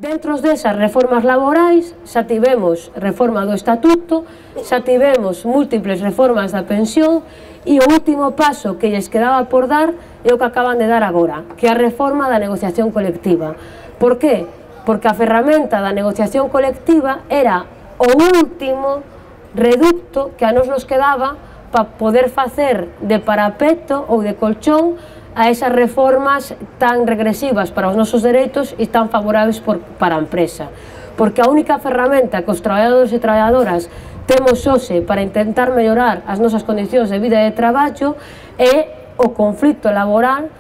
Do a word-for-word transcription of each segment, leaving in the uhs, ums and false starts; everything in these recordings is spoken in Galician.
Dentro desas reformas laborais xa tivemos reforma do estatuto, xa tivemos múltiples reformas da pensión e o último paso que lles quedaba por dar é o que acaban de dar agora, que é a reforma da negociación colectiva. Por qué? Porque a ferramenta da negociación colectiva era o último reducto que a nos nos quedaba para poder facer de parapeto ou de colchón a esas reformas tan regresivas para os nosos dereitos e tan favorables por, para a empresa. Porque a única ferramenta que os traballadores e traballadoras temos hoxe para intentar mellorar as nosas condicións de vida e de traballo é o conflito laboral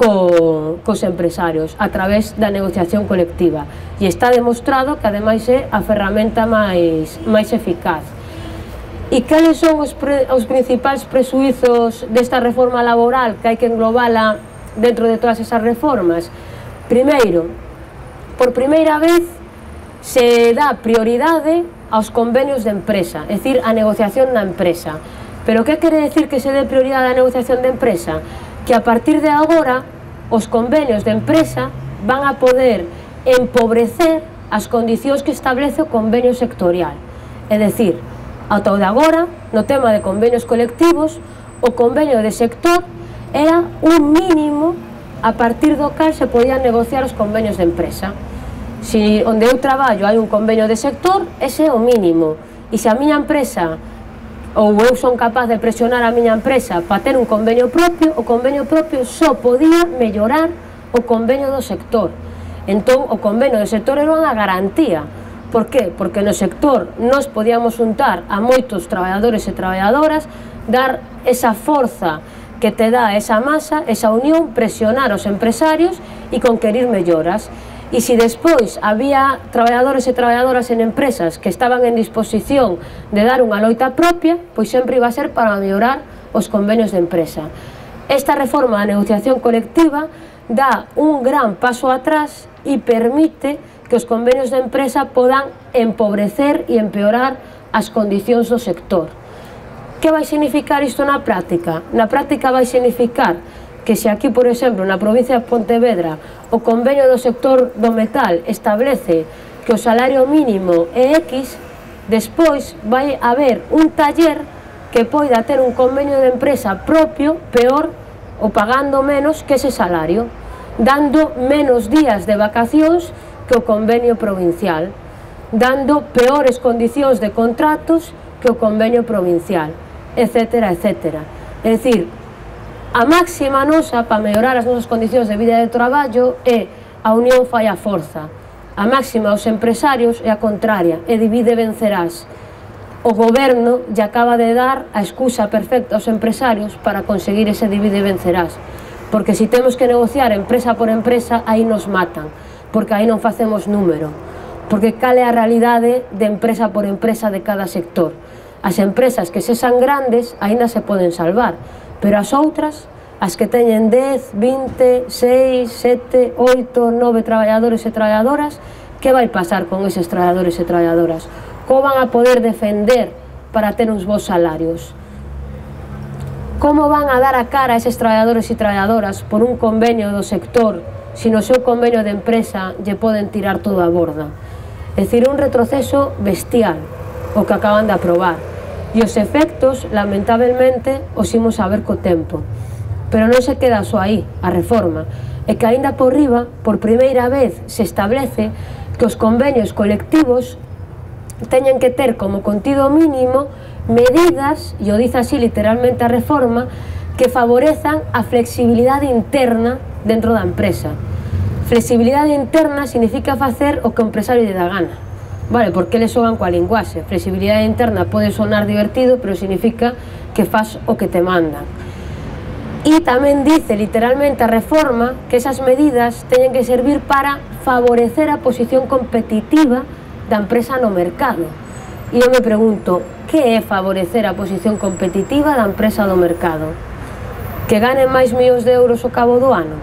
co, cos empresarios a través da negociación colectiva. E está demostrado que ademais é a ferramenta máis, máis eficaz. E cales son os, pre, os principais presuizos desta reforma laboral que hai que englobala dentro de todas esas reformas? Primeiro, por primeira vez se dá prioridade aos convenios de empresa, é dicir, a negociación na empresa. Pero que quere decir que se dé prioridade á negociación de empresa? Que a partir de agora os convenios de empresa van a poder empobrecer as condicións que establece o convenio sectorial. É dicir, ata o de agora, no tema de convenios colectivos, o convenio de sector era un mínimo a partir do cal se podían negociar os convenios de empresa. Se onde eu traballo hai un convenio de sector, ese é o mínimo. E se a miña empresa, ou eu son capaz de presionar a miña empresa para ter un convenio propio, o convenio propio só podía mellorar o convenio do sector. Entón, o convenio do sector era unha garantía. Por qué? Porque no sector nos podíamos juntar a moitos traballadores e traballadoras, dar esa forza que te dá esa masa, esa unión, presionar os empresarios e conquerir melloras. E se despois había traballadores e traballadoras en empresas que estaban en disposición de dar unha loita propia, pois sempre iba a ser para mellorar os convenios de empresa. Esta reforma da negociación colectiva dá un gran paso atrás e permite que os convenios de empresa podan empobrecer e empeorar as condicións do sector. Que vai significar isto na práctica? Na práctica vai significar que se aquí, por exemplo, na provincia de Pontevedra, o convenio do sector do metal establece que o salario mínimo é X, despois vai haber un taller que poida ter un convenio de empresa propio, peor, ou pagando menos que ese salario, dando menos días de vacacións que o convenio provincial, dando peores condicións de contratos que o convenio provincial, etcétera, etcétera. É dicir, a máxima nosa para mellorar as nosas condicións de vida e de traballo é a unión fai a forza. A máxima aos empresarios é a contraria, é divide e vencerás. O goberno lle acaba de dar a excusa perfecta aos empresarios para conseguir ese divide e vencerás. Porque se temos que negociar empresa por empresa, aí nos matan. Porque aí non facemos número, porque cal é a realidade de empresa por empresa de cada sector. As empresas que sexan grandes aínda se poden salvar, pero as outras, as que teñen dez, vinte, seis, sete, oito, nove traballadores e traballadoras, que vai pasar con eses traballadores e traballadoras? Como van a poder defender para ter uns bons salarios? Como van a dar a cara a eses traballadores e traballadoras por un convenio do sector se no seu convenio de empresa lle poden tirar todo a borda? É dicir, un retroceso bestial o que acaban de aprobar, e os efectos, lamentablemente, os imos a ver co tempo. Pero non se queda só aí a reforma, é que aínda por riba, por primeira vez, se establece que os convenios colectivos teñen que ter como contido mínimo medidas, e o dice así literalmente a reforma, que favorezan a flexibilidade interna dentro da empresa. Flexibilidade interna significa facer o que o empresario lle dá gana. Vale, porque eles xogan coa linguaxe. Flexibilidade interna pode sonar divertido, pero significa que faz o que te mandan. E tamén dice literalmente a reforma que esas medidas teñen que servir para favorecer a posición competitiva da empresa no mercado. E eu me pregunto, que é favorecer a posición competitiva da empresa do mercado? Que ganen máis millóns de euros ao cabo do ano?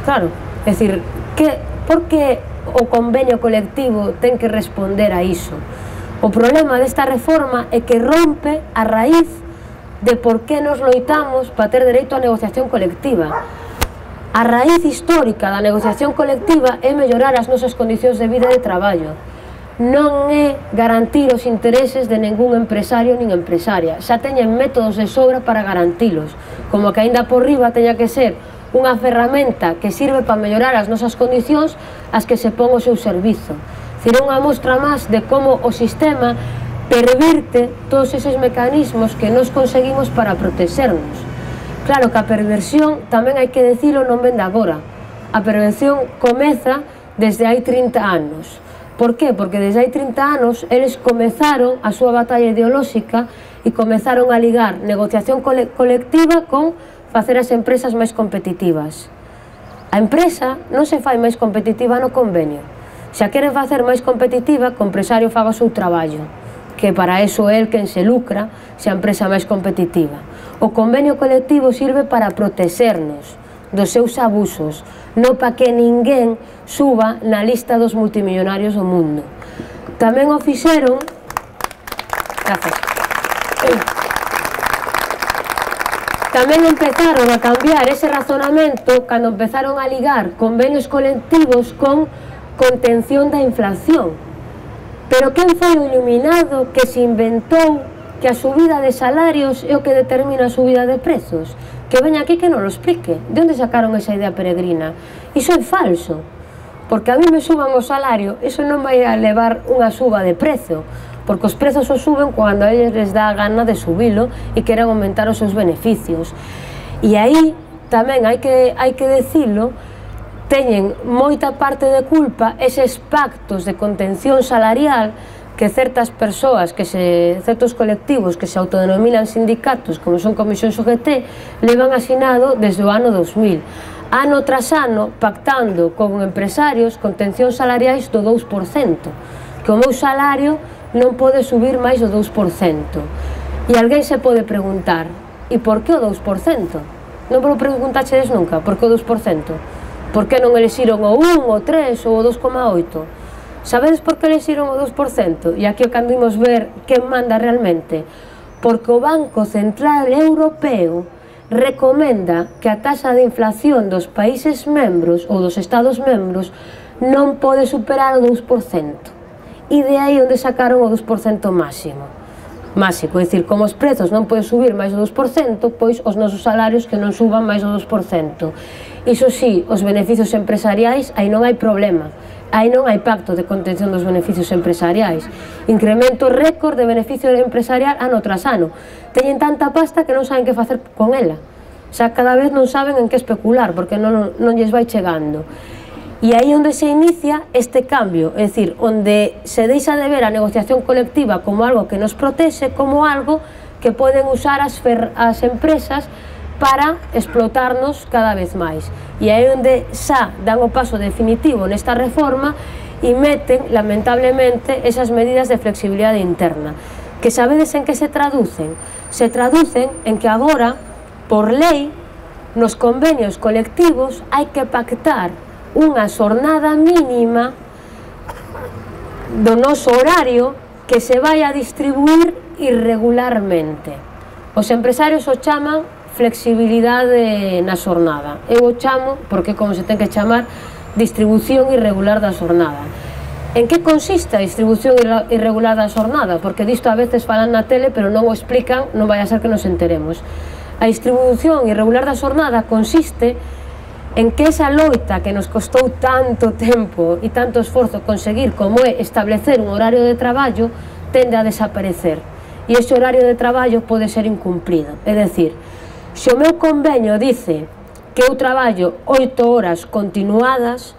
Claro, é dicir, que, por que o convenio colectivo ten que responder a iso? O problema desta reforma é que rompe a raíz de por que nos loitamos para ter dereito á negociación colectiva. A raíz histórica da negociación colectiva é mellorar as nosas condicións de vida e de traballo. Non é garantir os intereses de ningún empresario nin empresaria. Xa teñen métodos de sobra para garantilos, como que aínda por riba teña que ser unha ferramenta que sirve para mellorar as nosas condicións as que se pon o seu servizo. Dicir, unha mostra máis de como o sistema pervirte todos eses mecanismos que nos conseguimos para protexernos. Claro que a perversión, tamén hai que dicilo, non vende agora. A perversión comeza desde hai trinta anos. Por qué? Porque desde hai trinta anos eles comezaron a súa batalla ideolóxica e comezaron a ligar negociación cole colectiva con facer as empresas máis competitivas. A empresa non se fai máis competitiva no convenio. Se a queren facer máis competitiva, que o empresario faga o seu traballo, que para eso é el quen se lucra se a empresa máis competitiva. O convenio colectivo sirve para protexernos dos seus abusos, non para que ninguén suba na lista dos multimillonarios do mundo. Tamén o fixeron... Gracias. Tamén empezaron a cambiar ese razonamento cando empezaron a ligar convenios colectivos con contención da inflación. Pero quen foi o iluminado que se inventou que a subida de salarios é o que determina a subida de prezos? Que veña aquí que non lo explique. De onde sacaron esa idea peregrina? Iso é falso. Porque a mí me suban o salario, iso non vai a levar unha suba de prezo, porque os prezos os suben cando a eles les dá a gana de subilo e queren aumentar os seus beneficios. E aí tamén hai que, hai que decilo, teñen moita parte de culpa eses pactos de contención salarial que certas persoas, que se, certos colectivos que se autodenominan sindicatos, como son Comisións U G T, levan asinado desde o ano dos mil, ano tras ano, pactando con empresarios contencións salariais do dous por cento, que o meu salario non pode subir máis do dous por cento. E alguén se pode preguntar, e por que o dous por cento? Non vos preguntaxedes nunca, por que o dous por cento? Por que non elixiron o un, o tres ou o dos coma oito? Sabedes por que elixiron o dous por cento? E aquí o cando imos ver quen manda realmente. Porque o Banco Central Europeo recomenda que a taxa de inflación dos países membros ou dos estados membros non pode superar o dous por cento. E de aí onde sacaron o dous por cento máximo. Máxico, é dicir, como os prezos non poden subir máis do dous por cento, pois os nosos salarios que non suban máis do dous por cento. Iso sí, os beneficios empresariais, aí non hai problema. Aí non hai pacto de contención dos beneficios empresariais. Incremento récord de beneficio empresarial ano tras ano. Teñen tanta pasta que non saben que facer con ela. Xa cada vez non saben en que especular, porque non, non lles vai chegando. E aí onde se inicia este cambio, é dicir, onde se deixa de ver a negociación colectiva como algo que nos protexe, como algo que poden usar as, fer as empresas para explotarnos cada vez máis. E aí onde xa dan o paso definitivo nesta reforma e meten, lamentablemente, esas medidas de flexibilidade interna. Que sabedes en que se traducen? Se traducen en que agora, por lei, nos convenios colectivos hai que pactar unha xornada mínima do noso horario que se vai a distribuir irregularmente. Os empresarios o chaman flexibilidade na xornada. Eu o chamo, porque como se ten que chamar, distribución irregular da xornada. En que consiste a distribución irregular da xornada? Porque disto a veces falan na tele, pero non o explican, non vai a ser que nos enteremos. A distribución irregular da xornada consiste en que esa loita que nos costou tanto tempo e tanto esforzo conseguir, como é establecer un horario de traballo, tende a desaparecer. E ese horario de traballo pode ser incumplido. É dicir, se o meu convenio dice que eu traballo oito horas continuadas,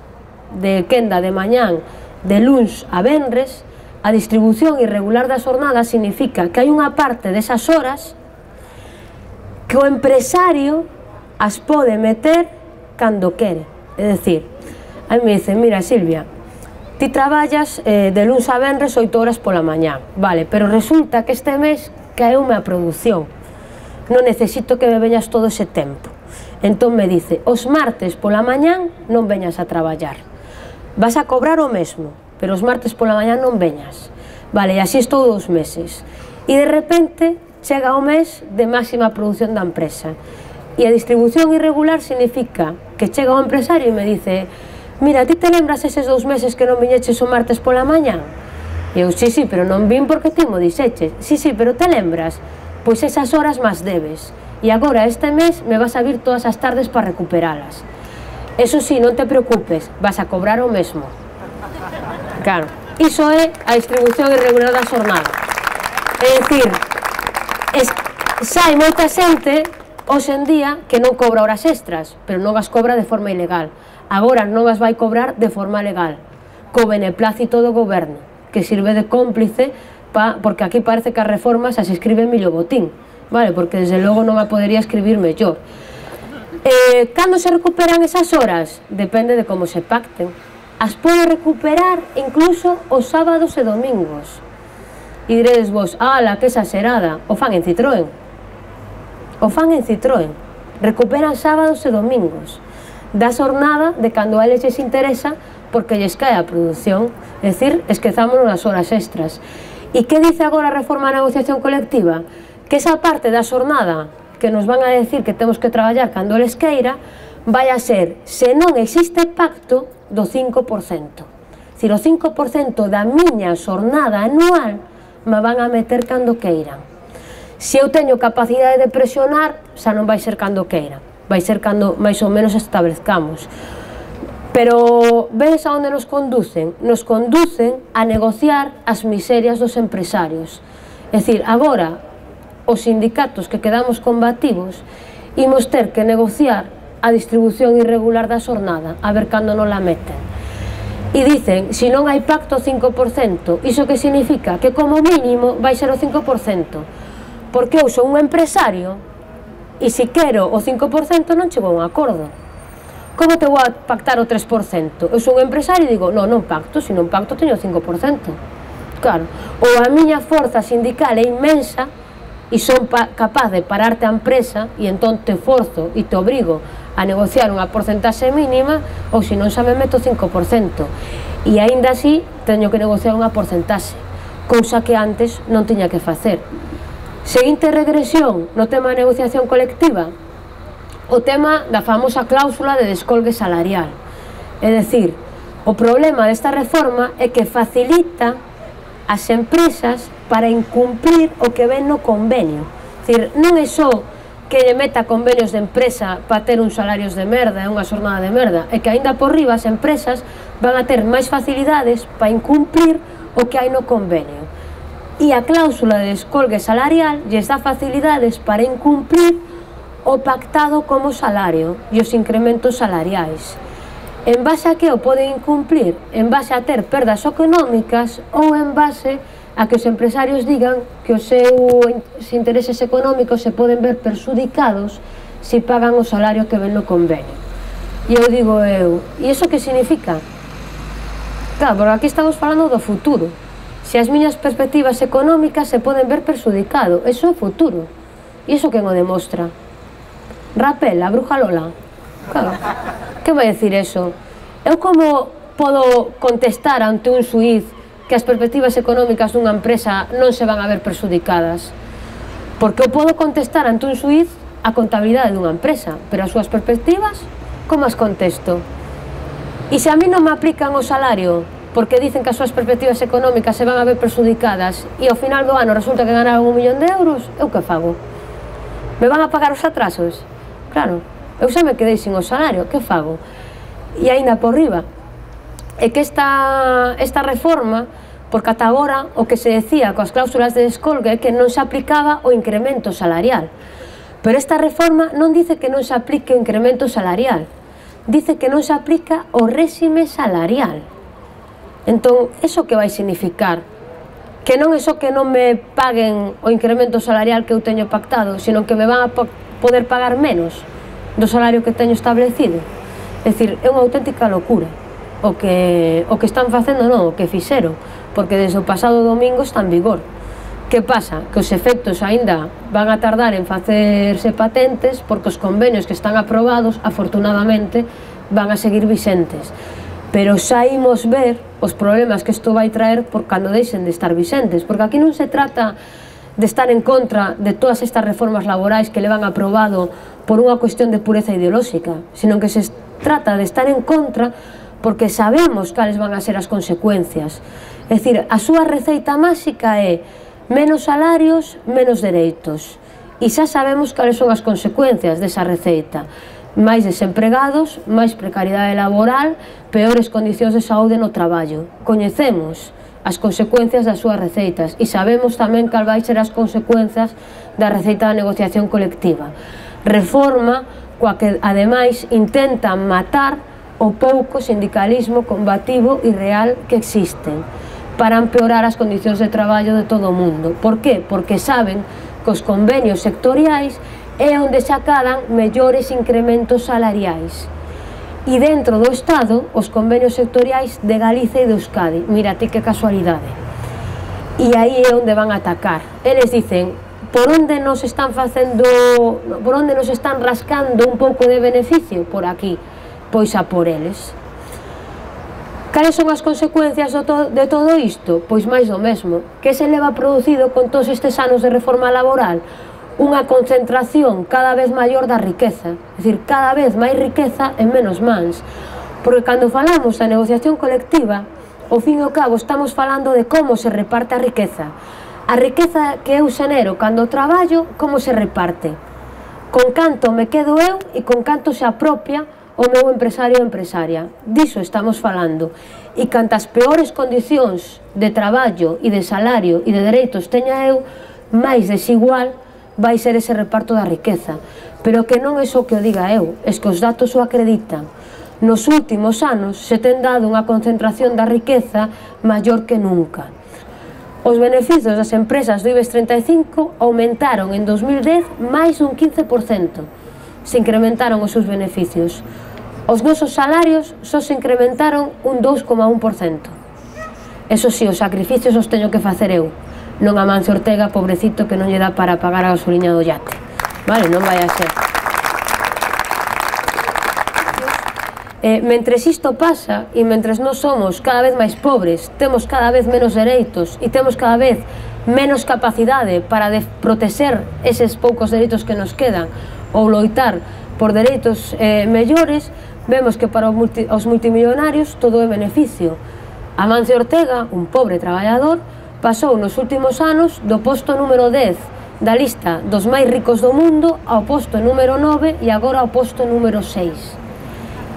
de quenda de mañán, de luns a venres, a distribución irregular da xornada significa que hai unha parte desas horas que o empresario as pode meter cando quere. É dicir, a mí me dicen, mira Silvia, ti traballas eh, de luns a venres oito horas pola mañá, vale, pero resulta que este mes caeume a produción, non necesito que me veñas todo ese tempo. Entón me dice, os martes pola mañán non veñas a traballar, vas a cobrar o mesmo, pero os martes pola mañán non veñas. Vale, e así estou dous meses. E de repente chega o mes de máxima produción da empresa. E a distribución irregular significa que chega o empresario e me dice: mira, ti te lembras eses dous meses que non viñeches o martes pola mañá? E eu, sí, sí, pero non vin porque ti mo dixeches. Sí, sí, pero te lembras? Pois esas horas más debes. E agora este mes me vas a vir todas as tardes para recuperalas. Eso sí, non te preocupes, vas a cobrar o mesmo. Claro, iso é a distribución irregular da xornada. É dicir, es, sai moita xente hoxe en día que non cobra horas extras, pero non as cobra de forma ilegal. Agora non as vai cobrar de forma legal, co beneplácito do goberno, que sirve de cómplice, pa, porque aquí parece que as reformas as escribe Emilio Botín, vale? Porque desde logo non a podería escribir mellor. Eh, cando se recuperan esas horas? Depende de como se pacten. As pode recuperar incluso os sábados e domingos. E diredes vos, ala, que exagerada, o fan en Citroën. O fan en Citroën. Recuperan sábados e domingos da xornada de cando a eles lles interesa, porque lles cae a produción. É dicir, esquezámonos nas horas extras. E que dice agora a reforma da negociación colectiva? Que esa parte da xornada que nos van a decir que temos que traballar cando eles queira vai a ser, se non existe pacto, do cinco por cento. Se o cinco por cento da miña xornada anual me van a meter cando queiran. Se eu teño capacidade de presionar, xa non vai ser cando queira, vai ser cando máis ou menos establezcamos. Pero vedes a onde nos conducen? Nos conducen a negociar as miserias dos empresarios. É dicir, agora, os sindicatos que quedamos combativos imos ter que negociar a distribución irregular da xornada, a ver cando non la meten. E dicen, se non hai pacto cinco por cento, iso que significa? Que como mínimo vai ser o cinco por cento, porque eu sou un empresario e se quero o cinco por cento non chego a un acordo. Como te vou a pactar o tres por cento? Eu sou un empresario e digo, non, non pacto, se non pacto teño o cinco por cento. Claro, ou a miña forza sindical é inmensa e son capaz de pararte a empresa e entón te forzo e te obrigo a negociar unha porcentaxe mínima, ou se non xa me meto cinco por cento. E aínda así teño que negociar unha porcentaxe, cousa que antes non tiña que facer. Seguinte regresión no tema da negociación colectiva, o tema da famosa cláusula de descolgue salarial. É dicir, o problema desta reforma é que facilita as empresas para incumplir o que ven no convenio. É dicir, non é só que lle meta convenios de empresa para ter uns salarios de merda e unha xornada de merda, é que aínda por riba as empresas van a ter máis facilidades para incumplir o que hai no convenio. E a cláusula de descolgue salarial lles dá facilidades para incumplir o pactado como salario e os incrementos salariais. En base a que o poden incumplir? En base a ter perdas económicas ou en base a que os empresarios digan que os seus intereses económicos se poden ver perxudicados se pagan o salario que ven no convenio. E eu digo eu, e iso que significa? Claro, porque aquí estamos falando do futuro. Se as miñas perspectivas económicas se poden ver perxudicado, iso é futuro. E iso quen o demostra? Rapel, a bruja Lola. Claro. Que vai decir eso? Eu como podo contestar ante un xuíz que as perspectivas económicas dunha empresa non se van a ver perxudicadas? Porque eu podo contestar ante un xuíz a contabilidade dunha empresa, pero as súas perspectivas, como as contesto? E se a mí non me aplican o salario porque dicen que as súas perspectivas económicas se van a ver perxudicadas e ao final do ano resulta que ganaron un millón de euros, eu que fago? Me van a pagar os atrasos? Claro, eu xa me quedei sin o salario, que fago? E aínda por riba, é que esta, esta reforma, porque ata agora o que se decía coas cláusulas de descolgue é que non se aplicaba o incremento salarial. Pero esta reforma non dice que non se aplique o incremento salarial, dice que non se aplica o réxime salarial. Entón, eso que vai significar? Que non é só que non me paguen o incremento salarial que eu teño pactado, sino que me van a poder pagar menos do salario que teño establecido. É dicir, é unha auténtica locura o que, o que están facendo, non, o que fixeron, porque desde o pasado domingo está en vigor. Que pasa? Que os efectos aínda van a tardar en facerse patentes porque os convenios que están aprobados, afortunadamente, van a seguir vixentes. Pero xa imos ver os problemas que isto vai traer por cando deixen de estar vixentes, porque aquí non se trata de estar en contra de todas estas reformas laborais que le van aprobado por unha cuestión de pureza ideolóxica, sino que se trata de estar en contra porque sabemos cales van a ser as consecuencias. É dicir, a súa receita máxica é menos salarios, menos dereitos. E xa sabemos cales son as consecuencias desa receita. Máis desempregados, máis precariedade laboral, peores condicións de saúde no traballo. Coñecemos as consecuencias das súas receitas e sabemos tamén cal vai ser as consecuencias da receita da negociación colectiva. Reforma coa que, ademais, intentan matar o pouco sindicalismo combativo e real que existen para empeorar as condicións de traballo de todo o mundo. Por qué? Porque saben que os convenios sectoriais é onde se acadan mellores incrementos salariais. E dentro do Estado, os convenios sectoriais de Galicia e de Euskadi. Mira, ti que casualidade. E aí é onde van a atacar. Eles dicen, por onde nos están facendo, por onde nos están rascando un pouco de beneficio? Por aquí. Pois a por eles. Cales son as consecuencias de todo isto? Pois máis do mesmo. Que se leva producido con todos estes anos de reforma laboral? Unha concentración cada vez maior da riqueza. É dicir, cada vez máis riqueza en menos mans. Porque cando falamos da negociación colectiva, ao fin e ao cabo estamos falando de como se reparte a riqueza. A riqueza que eu xenero cando traballo, como se reparte? Con canto me quedo eu e con canto se apropia o meu empresario ou empresaria. Diso estamos falando. E cantas peores condicións de traballo e de salario e de dereitos teña eu, máis desigual vai ser ese reparto da riqueza. Pero que non é só que o diga eu, es que os datos o acreditan. Nos últimos anos se ten dado unha concentración da riqueza maior que nunca. Os beneficios das empresas do IBEX treinta e cinco aumentaron en dos mil dez máis dun quince por cento. Se incrementaron os seus beneficios. Os nosos salarios só se incrementaron un dous coma un por cento. Eso si, os sacrificios os teño que facer eu, non a Mancio Ortega, pobrecito, que non lle dá para pagar a gasoliña do yate. Vale, non vai a ser. Eh, mentres isto pasa, e mentres nós somos cada vez máis pobres, temos cada vez menos dereitos e temos cada vez menos capacidade para protexer eses poucos dereitos que nos quedan ou loitar por dereitos eh, mellores, vemos que para os, multi, os multimillonarios todo é beneficio. Amancio Ortega, un pobre traballador, pasou nos últimos anos do posto número dez da lista dos máis ricos do mundo ao posto número nove e agora ao posto número seis.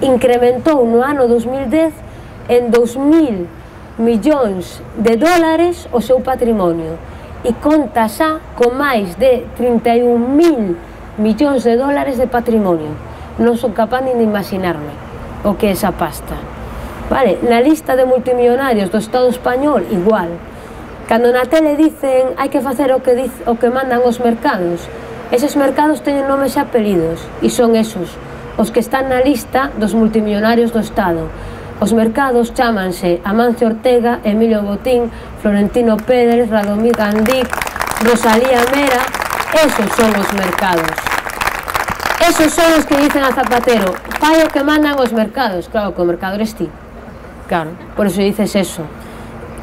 Incrementou no ano dos mil dez en dous mil millóns de dólares o seu patrimonio e conta xa con máis de trinta e un mil millóns de dólares de patrimonio. Non son capaz nin de imaginarme o que é esa pasta. Vale, na lista de multimillonarios do Estado español, igual. Cando na tele dicen hai que facer o que, diz, o que mandan os mercados, eses mercados teñen nomes e apelidos e son esos, os que están na lista dos multimillonarios do Estado. Os mercados chámanse Amancio Ortega, Emilio Botín, Florentino Pérez, Radomir Gandic, Rosalía Mera. Esos son os mercados. Esos son os que dicen a Zapatero, fai o que mandan os mercados. Claro, que o mercado eres ti. Claro, por eso dices eso,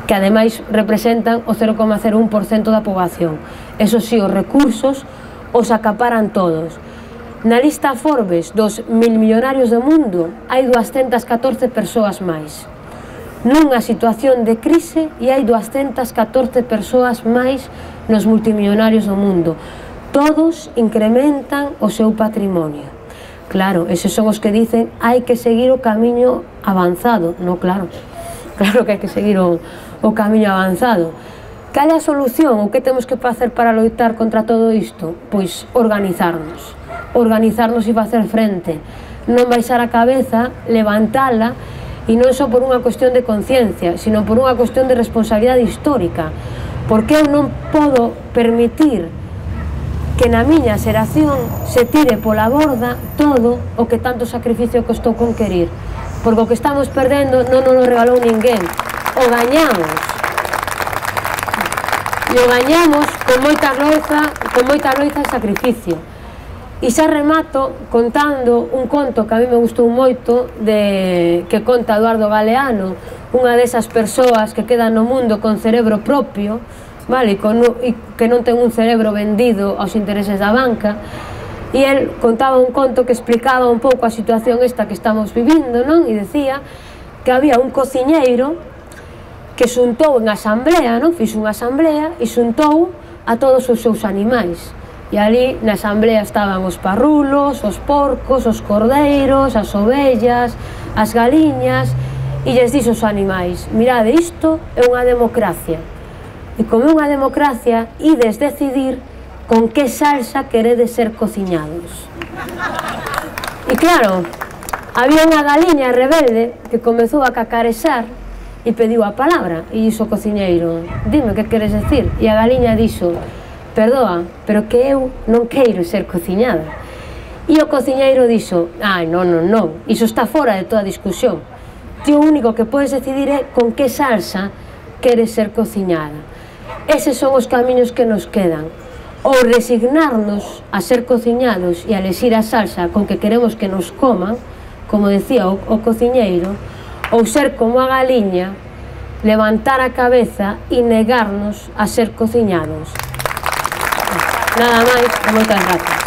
que ademais representan o cero coma cero un por cento da poboación. Eso sí, os recursos os acaparan todos. Na lista Forbes dos mil millonarios do mundo hai doscientas catorce persoas máis. Nunha situación de crise e hai doscientas catorce persoas máis nos multimillonarios do mundo. Todos incrementan o seu patrimonio. Claro, eses son os que dicen hai que seguir o camiño avanzado. No, claro, claro que hai que seguir o, o camiño avanzado. Cal é a solución? O que temos que facer para loitar contra todo isto? Pois organizarnos. Organizarnos e facer frente. Non baixar a cabeza, levantala, e non só por unha cuestión de conciencia, sino por unha cuestión de responsabilidade histórica. Porque eu non podo permitir que na miña xeración se tire pola borda todo o que tanto sacrificio costou conquerir. Porque o que estamos perdendo non nos regalou ninguén. O gañamos. E o gañamos con moita loiza, con moita loiza e sacrificio. E xa remato contando un conto que a mí me gustou moito, de, que conta Eduardo Galeano, unha desas persoas que quedan no mundo con cerebro propio, vale, e que non ten un cerebro vendido aos intereses da banca, e el contaba un conto que explicaba un pouco a situación esta que estamos vivindo, non? E decía que había un cociñeiro que xuntou en asamblea, non? Fixo unha asamblea e xuntou a todos os seus animais. E ali na asamblea estaban os parrulos, os porcos, os cordeiros, as ovellas, as galiñas, e lles dixo aos animais: mirade, isto é unha democracia. E como é unha democracia, ides decidir con que salsa queredes ser cociñados. E claro, había unha galiña rebelde que comezou a cacarexar e pediu a palabra, e dixo o cociñeiro: dime, que queres decir? E a galiña dixo: perdoa, pero que eu non queiro ser cociñada. E o cociñeiro dixo: ai, non, non, non, iso está fora de toda discusión. Ti o único que podes decidir é con que salsa queres ser cociñada. Eses son os camiños que nos quedan: ou resignarnos a ser cociñados e a elexir a salsa con que queremos que nos coman, como decía o, o cociñeiro, ou ser como a galiña, levantar a cabeza e negarnos a ser cociñados. Nada máis, e moitas gracias.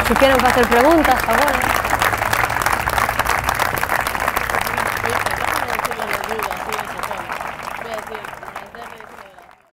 Si queren facer preguntas, agora.